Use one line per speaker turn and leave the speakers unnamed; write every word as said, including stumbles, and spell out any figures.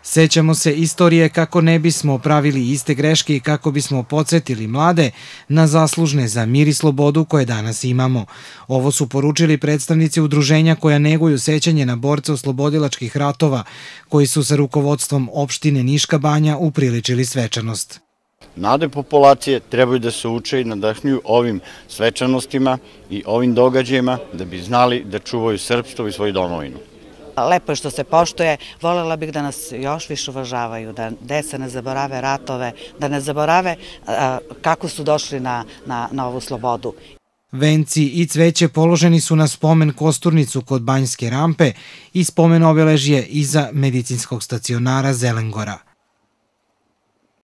Sećamo se istorije kako ne bismo pravili iste greške i kako bismo podsjetili mlade na zaslužne za mir i slobodu koje danas imamo. Ovo su poručili predstavnici udruženja koja neguju sećanje na borce oslobodilačkih ratova, koji su sa rukovodstvom opštine Niška Banja upriličili svečanost.
Mlade populacije trebaju da se uče i nadahnjuju ovim svečanostima i ovim događajima da bi znali da čuvaju srpstvo i svoju domovinu.
Lepo je što se poštuje, voljela bih da nas još više uvažavaju, da deca ne zaborave ratove, da ne zaborave kako su došli na, na, na ovu slobodu.
Venci i cveće položeni su na spomen kosturnicu kod Banjske rampe i spomen obeležje iza medicinskog stacionara Zelengora.